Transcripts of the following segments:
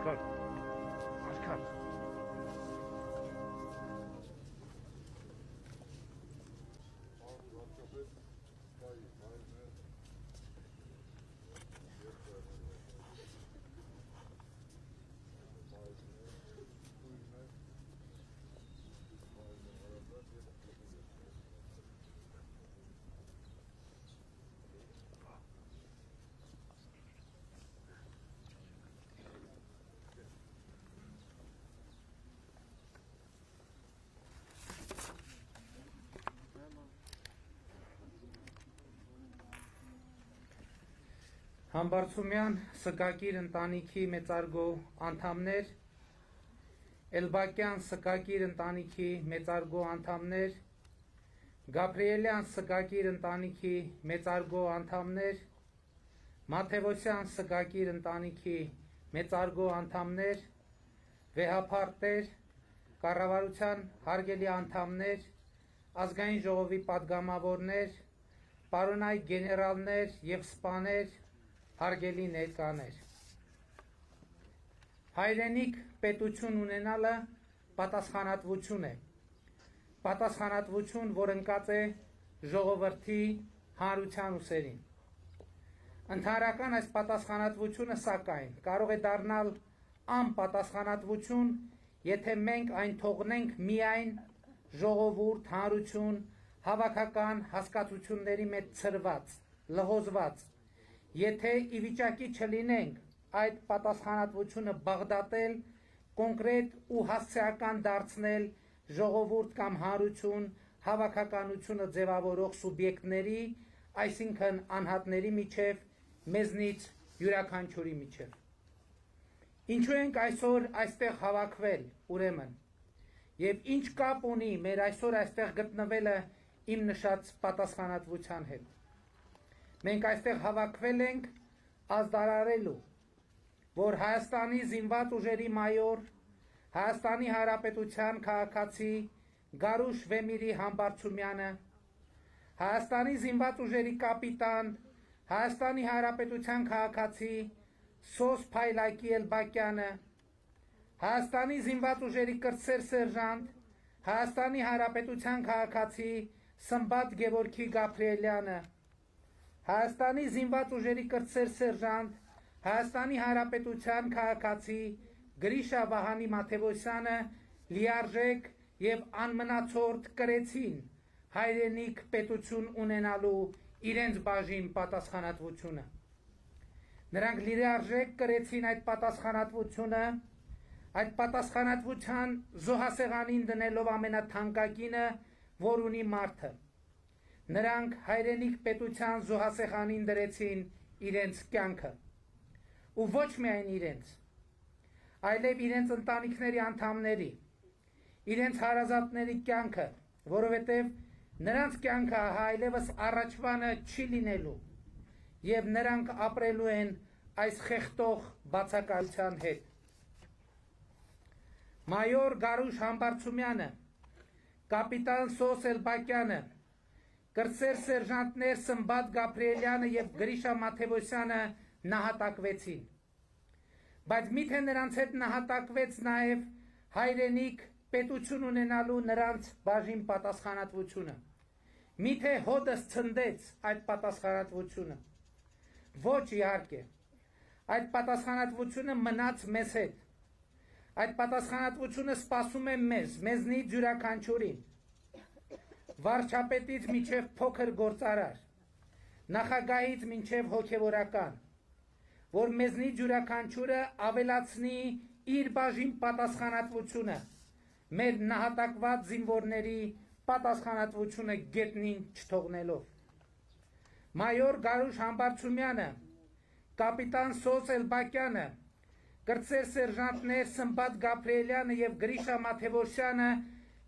Aşkar. Aşkar. Համբարձումյան Սկակիր ընտանիքի մեծարգո անդամներ, Էլբակյան Սկակիր ընտանիքի մեծարգո անդամներ, Գաբրիելյան Սկակիր ընտանիքի մեծարգո անդամներ, Մաթևոսյան Սկակիր ընտանիքի մեծարգո անդամներ, վեհապարտեր, կառավարության հարգելի անդամներ, ազգային ժողովի պատգամավորներ, պարոնայք գեներալներ եւ սպաներ, հարգելի ներկաներ։ Հայրենիք պետություն ունենալը պատասխանատվություն է։ Պատասխանատվություն, որ ընկած է ժողովրդի հանրության ուսերին։ Ընդհանրական այս պատասխանատվությունը սակայն կարող է դառնալ անպատասխանատվություն, եթե մենք այն թողնենք միայն ժողովուրդ, հանրություն, հավաքական հասկացությունների մեջ ցրված, լհոզված, եթե ի վիճակի չլինենք այդ պատասխանատվությունը բաղդատել, կոնկրետ ու հասցեական դարձնել ժողովուրդ կամ հանրություն, հավաքականությունը ձևավորող սուբյեկտների, այսինքն անհատների միջև, մեզնից յուրաքանչյուրի միջև։ Ինչու ենք այսօր այստեղ հավաքվել, ուրեմն, եւ ինչ կապ ունի մեր այսօր այստեղ գտնվելը իմ նշած պատասխանատվության հետ։ Մենք այստեղ հավաքվել ենք ազդարարելու, որ Հայաստանի զինված ուժերի մայոր, Հայաստանի Հանրապետության քաղաքացի Գարուշ Վեմիրի Համբարձումյանը, Հայաստանի զինված ուժերի կապիտան, Հայաստանի Հանրապետության քաղաքացի Սոս Փայլակի Էլբակյանը, Հայաստանի զինված ուժերի կրտսեր սերժանտ, Հայաստանի Հանրապետության քաղաքացի Սմբատ Գևորգի Գաբրիելյանը, Հայաստանի զինված ուժերի կրտսեր սերժանտ, Հայաստանի Հանրապետության քաղաքացի Գրիշա Վահանի Մաթևոսյանը լիարժեք եւ անմնացորդ կրեցին հայրենիք պետություն ունենալու իրենց բաժին պատասխանատվությունը։ Նրանք լիարժեք կրեցին այդ պատասխանատվության զոհասեղանին դնելով ամենաթանկագինը, որ ունի մարդը։ Նրանք հայրենիք պետության զոհասեղանին դրեցին իրենց կյանքը, ու ոչ միայն իրենց, այլև իրենց ընտանիքների անդամների, իրենց հարազատների կյանքը, որովհետև նրանց կյանքը այլևս առաջվանը չի լինելու, եւ նրանք ապրելու են այս խեղդող բացակայության հետ։ Մայոր Գարուշ Համբարձումյանը, կապիտան Սոս Էլբակյանը, կրտսեր սերժանտներ Սմբատ Գաբրիելյանը եւ Գրիշա Մաթևոսյանը նահատակվեցին։ Բայց միթե նրանց հետ նահատակվեց նաեւ հայրենիք պետություն ունենալու նրանց բաժին պատասխանատվությունը։ Միթե հոդս ցնդեց այդ պատասխանատվությունը։ Ոչ իհարկե։ Այդ պատասխանատվությունը մնաց մեզ հետ։ Այդ պատասխանատվությունը սպասում է մեզնից յուրաքանչյուրին։ Վարչապետից մինչև փոքր գործարար, նախագահից մինչև հոգևորական, որ մեզնից յուրաքանչյուրը ավելացնի իր բաժին պատասխանատվությունը, մեր նահատակված զինվորների պատասխանատվությունը գետնին չթողնելով։ Մայոր Գարուշ Համբարձումյանը, կապիտան Սոս Էլբակյանը, կրտսեր սերժանտներ Սմբատ Գաբրիելյանը եւ Գրիշա Մաթևոսյանը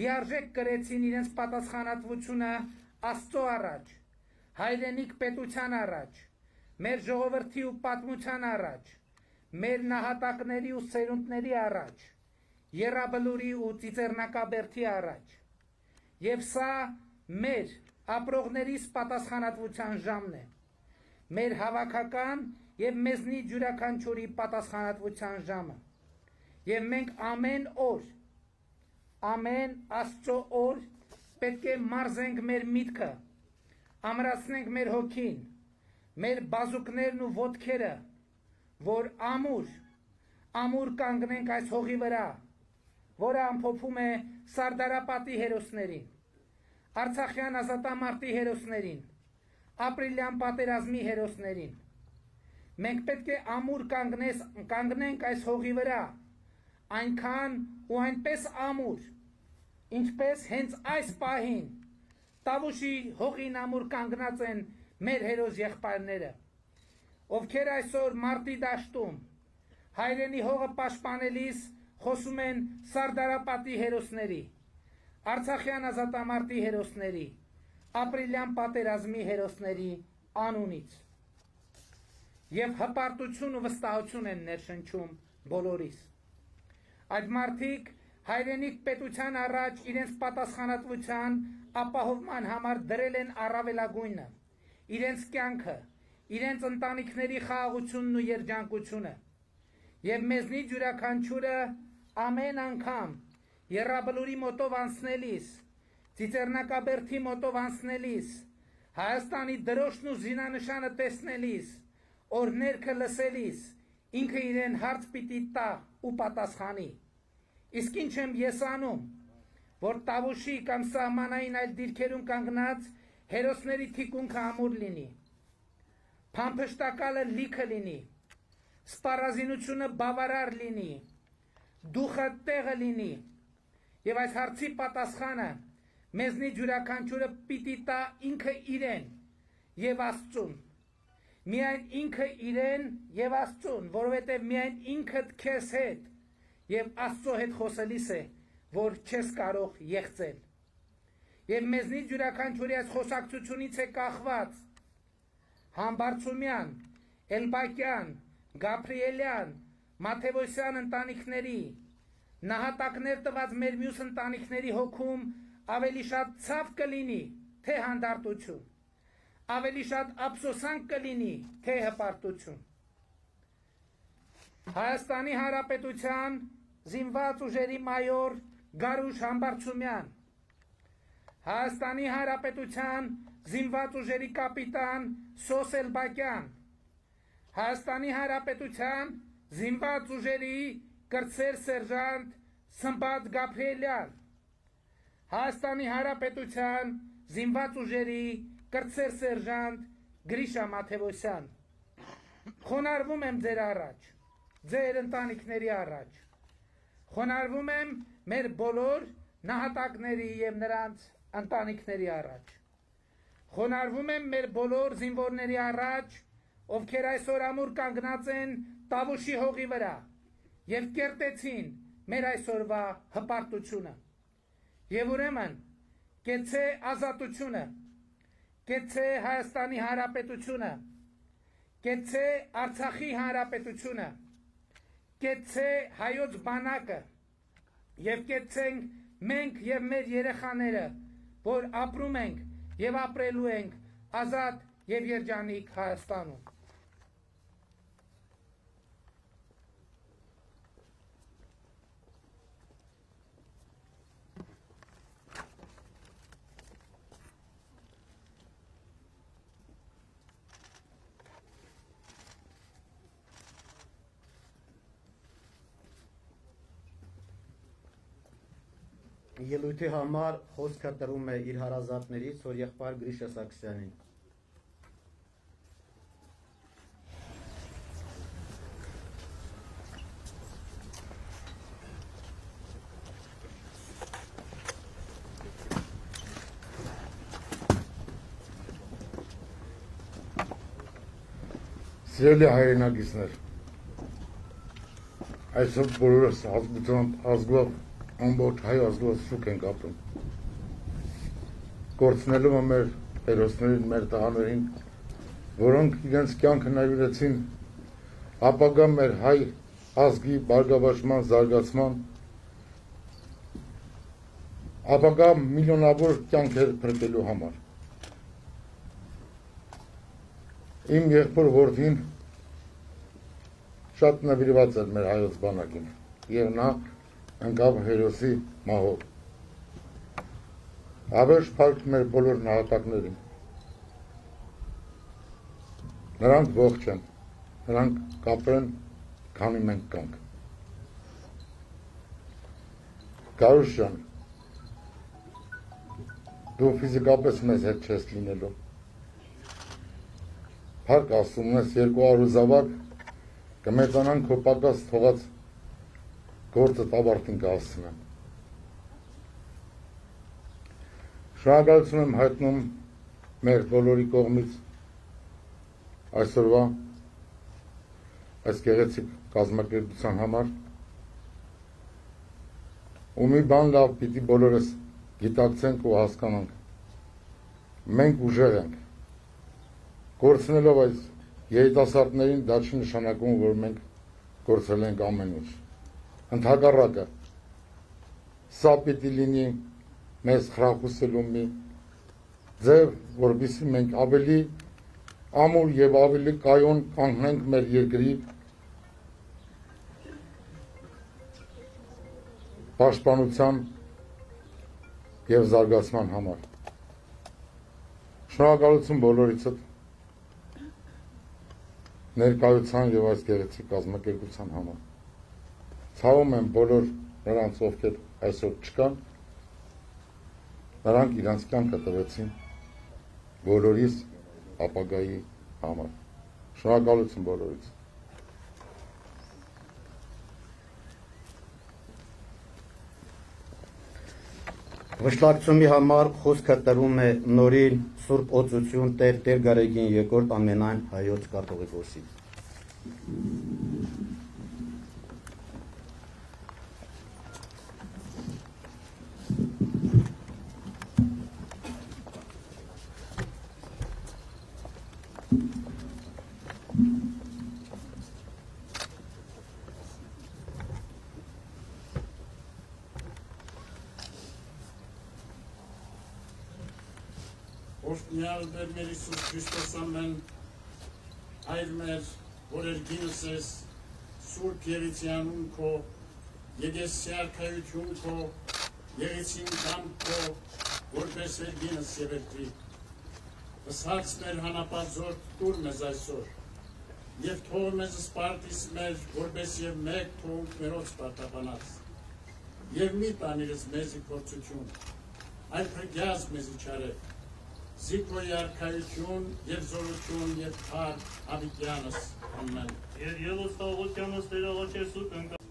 լիարժեք կրեցին իրենց պատասխանատվությունը Աստծո առաջ, հայրենիք պետության առաջ, մեր ժողովրդի ու պատմության առաջ, մեր նահատակների ու սերունդների առաջ, Եռաբլուրի ու Ծիծեռնակաբերդի առաջ։ Եվ սա մեր ապրողներիս պատասխանատվության ժամն է, մեր հավաքական եւ մեզնից յուրաքանչյուրի պատասխանատվության ժամը։ Եվ մենք ամեն օր, ամեն Աստծո օր պետք է մարզենք մեր միտքը, ամրացնենք մեր հոգին, մեր բազուկներն ու ոտքերը, որ ամուր կանգնենք այս հողի վրա, որը ամփոփում է Սարդարապատի հերոսներին, Արցախյան ազատամարտի հերոսներին, ապրիլյան պատերազմի հերոսներին։ Մենք պետք է ամուր կանգնենք այս հողի վրա, այնքան ու այնպես ամուր, ինչպես հենց այս պահին Տավուշի հողին ամուր կանգնած են մեր հերոս եղբայրները, ովքեր այսօր մարտի դաշտում հայրենի հողը պաշտպանելիս խոսում են Սարդարապատի հերոսների, Արցախյան ազատամարտի հերոսների, ապրիլյան պատերազմի հերոսների անունից։ Եվ հպարտություն ու վստահություն են ներշնչում բոլորիս։ Այդ մարդիկ հայրենիք պետության առաջ իրենց պատասխանատվության ապահովման համար դրել են առավելագույնը, իրենց կյանքը, իրենց ընտանիքների խաղաղությունն ու երջանկությունը։ Եվ մեզնից յուրաքանչյուրը ամեն անգամ Եռաբլուրի մոտով անցնելիս, Ծիծեռնակաբերդի մոտով անցնելիս, Հայաստանի դրոշն ու զինանշանը տեսնելիս, օրհներգը լսելիս, ինքը իրեն հարց պիտի տա ու պատասխանի։ Իսկ ինչ եմ ես անում, որ Տավուշի կամ սահմանային այլ դիրքերում կանգնած հերոսների թիկունքը ամուր լինի, փամփշտակալը լիքը լինի, սպառազինությունը բավարար լինի, դուխը տեղը լինի, եւ այս հարցի պատասխանը մեզնից յուրաքանչյուրը պիտի տա ինքը իրեն եւ Աստծուն։ Միայն ինքը իրեն եւ Աստծուն, որովհետեւ միայն ինքդ քեզ հետ եւ Աստծո հետ խոսելիս է, որ չես կարող եղծել։ Եվ մեզնից յուրաքանչյուրի այս խոսակցությունից է կախված Համբարձումյան, Էլբակյան, Գաբրիելյան, Մաթևոսյան ընտանիքների, նահատակներ տված մեր մյուս ընտանիքների հոգում ավելի շատ ցավ կլինի, թե հանդարտություն, ավելի շատ ափսոսանք կլինի, թե հպարտություն։ Հայաստանի Հանրապետության զինված ուժերի մայոր Գարուշ Համբարձումյան, Հայաստանի Հանրապետության զինված ուժերի կապիտան Սոս Էլբակյան, Հայաստանի Հանրապետության զինված ուժերի կրտսեր սերժանտ Սմբատ Գաբրիելյան, Հայաստանի Հանրապետության զինված ուժերի կրտսեր սերժանտ Գրիշա Մաթևոսյան։ Խոնարհվում եմ ձեր առաջ, ձեր ընտանիքների առաջ, խոնարհվում եմ մեր բոլոր նահատակների եւ նրանց ընտանիքների առաջ, խոնարհվում եմ մեր բոլոր զինվորների առաջ, ովքեր այսօր ամուր կանգնած են Տավուշի հողի վրա եւ կերտեցին մեր այսօրվա հպարտությունը։ Եվ ուրեմն կեցե ազատությունը, կեցե Հայաստանի Հանրապետությունը, կեցե Արցախի Հանրապետությունը, կեցե հայոց բանակը եւ կեցենք մենք եւ մեր երեխաները, որ ապրում ենք եւ ապրելու ենք ազատ եւ երջանիկ Հայաստանում։ Ելույթի համար խոսքը տրում է իր հարազատներից որ եղբայր Գրիշա Սարգսյանին։ Սիրելի հայրենակիցներ, այսօր բոլորս ազգով ամբողջ հայ ազգով շուք ենք ապրում։ Կորցնելու մեր հերոսներին, մեր տղաներին, որոնք իրենց կյանքը նվիրեցին ապագա մեր հայ ազգի բարգավաճման, զարգացման, ապագա միլիոնավոր կյանքեր փրկելու համար։ Իմ եղբոր որդին շատ նվիրված էր մեր հայոց բանակին։ եւ նա ընկավ հերոսի մահով։ Հավերժ փառք մեր բոլոր նահատակներին։ Նրանք ողջ են, նրանք կապրեն, քանի մենք կանք։ Գարուշ ջան, դու ֆիզիկապես մեզ հետ չես լինելու։ Փառք ասում ես 200 զավակ կմեծանան քո պակաս թողած գործը ավարտին կհասցնեմ։ Շնորհակալություն եմ հայտնում մեր բոլորի կողմից այսօրվա այս գեղեցիկ կազմակերպության համար ու մի բան լավ պիտի բոլորս գիտակցենք ու հասկանանք։ Մենք ուժեղ ենք։ Կորցնելով այս երիտասարդներին դա չի նշանակում, որ մենք կորցրել ենք ամեն ինչ։ Ընդհակառակը, սա պիտի լինի մեզ խրախուսելու մի ձև, որպեսզի մենք ավելի ամուր եւ ավելի կայուն կանգնենք մեր երկրի պաշտպանության եւ զարգացման համար։ Շնորհակալություն բոլորիցդ ներկայության եւ այս գեղեցիկ կազմակերպության համար։ Ցավում եմ բոլոր նրանց, ովքեր այսօր չկան, նրանք իրանց կյանքը տվեցին բոլորիս ապագայի համար։ Շնորհակալություն բոլորից։ Վշտակցումի համար խոսքը տրում է նորին Սուրբ Օծություն Տեր Գարեգին երկրորդ ամենայն հայոց կաթողիկոսի։ Օրհնյալ Տեր մեր Հիսուս Քրիստոս ամեն հայր մեր, որ երգինս ես, Սուրբ Երիցյանուն քո, Եգեսի արքայություն քո, Եղեցին կամ քո, որպես երգինս եւ երկրի։ Ըսած մեր հանապազոր տուր մեզ այսօր, եւ թող մեզ սպարտիս մեր, որպես եւ մեկ թող մերոց պարտաբանած, եւ մի տանիրս մեզի փորձություն, այլ փրկյաս մեզի չարեք, Զիքոյի արքայություն եւ զորություն եւ փառք հավիտյանս ամեն։ Եվ ելուս տաղոտյանս տերաղաչեսու կնկա։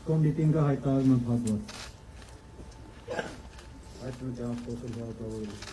Կոմիտինգը հայտարարում է փակված։ Այդ նույնիսկ խոսել հաղորդավորը։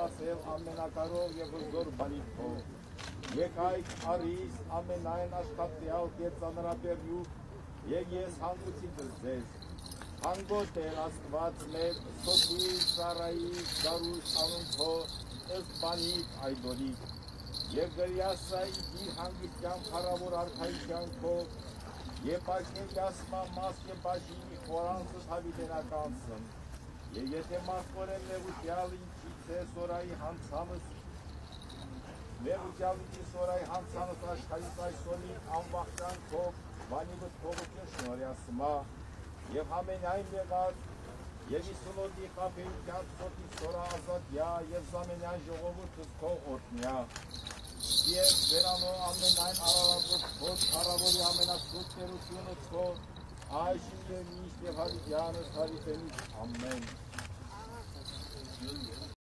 սպասել ամենակարող եւ հզոր բանից քո։ Եկ այդ արիս ամենայն աշխատյալ կերծանրաբերյու եւ ես հանգուցի ձեզ։ Հանգոտ է Աստված մեր սոկի ծառայի դարուս անունքո ըստ բանիք այդորի եւ գրյասա իր հանգստյան փառավոր արքայության քո եւ պաշտպանյասմա մաս եւ բաժինի խորանսը հավիտենականսն եւ եթե մարդորեն լեվուտյալ ինչից է սորայի հանցանս լեվուտյալ ինչի սորայի հանցանս աշխարհից այսօրի անվախտան քո բանի վտքովություն շնորհյասմա եւ ամենայն եղած եւ իսունոդի խապեյության սոտի սորա ազատյա եւ զամենյան ժողովուրդս քո օրտնյա եւ վերանո ամենայն արարածոց քո քարավորի ամենասուրբ տերությունը քո այժմ եւ միշտ եւ հավիտյանս հավիտենից ամեն